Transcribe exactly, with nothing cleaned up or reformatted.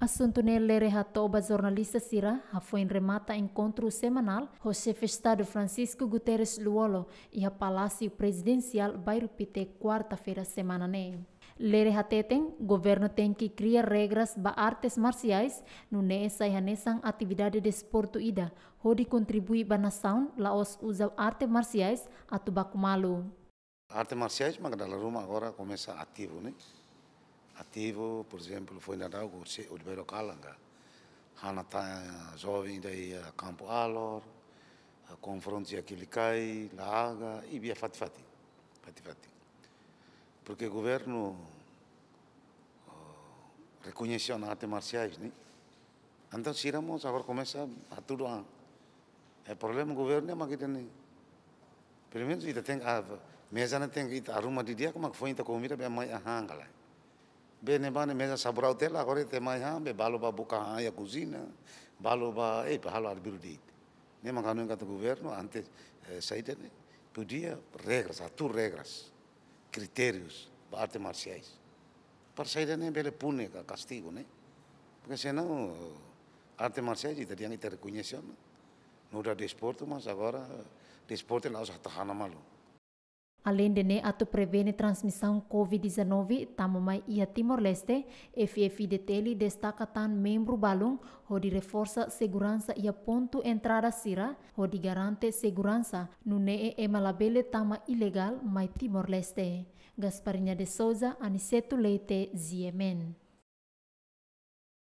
Asuntu ne'e Lere hato'o ba jornalista sira hafoin remata enkontru semanál ho Xefe Estadu Francisco Guterres Lú-Olo iha Palásiu Prezidensiál, Bairru Pité, kuarta-feira semana ne'e. Lere hateten, governu tenke kria regras ba artes marsiais, nune'e sai hanesan atividade desportu ida, hodi kontribui ba nasaun, la'ós uza arte marsiais atu baku malu. Arte marsiais mak dala ruma agora komesa ativu, ne'e? Ativu, por ezemplu, foin daudauk se Oliveira Kalanga, hana tan joven ida iha Kampu Alor, konfrontu iha Kilikai, La Haga, i bia fatin-fatin, fatin-fatin. Porke governu, oh, rekoñese ona arte marsiais, ne'e? Entaun sira mós agora komesa hatudu an. Eh, problema governu ne'e mak ita-nia. Pelumenus ita tenke, ah, meza ne'e tenke ita arruma didi'ak, mak foin ita komida be mai han ka lae. Be ne'ebá ne'e meza saburau tiha ona, agora ita mai han, be balu bá buka han iha kuziña, balu bá, eh, bá halo arbiru de'it. Ne'e mak ha'u hanoin katak governu antes, eh, saida ne'e, podia regras, atur regras, kritérius ba arte marsiais. Para saida ne'e bele pune ka kastigu, ne'e? Porke senaun arte marsiais ita dehan ita rekoñese ona, nu'udar desportu, mas agora desportu la'ós atu hana malu. Aleinde ne'e, atu prevene transmisaun covid dezanove tama mai iha Timor-Leste, F F I D T L destaka tan membru balun hodi reforsa seguransa iha pontu entrada sira, hodi garante seguransa, nune'e ema labele tama ilegál mai Timor-Leste. Gasparinha de Souza, Aniceto Leite, G M N.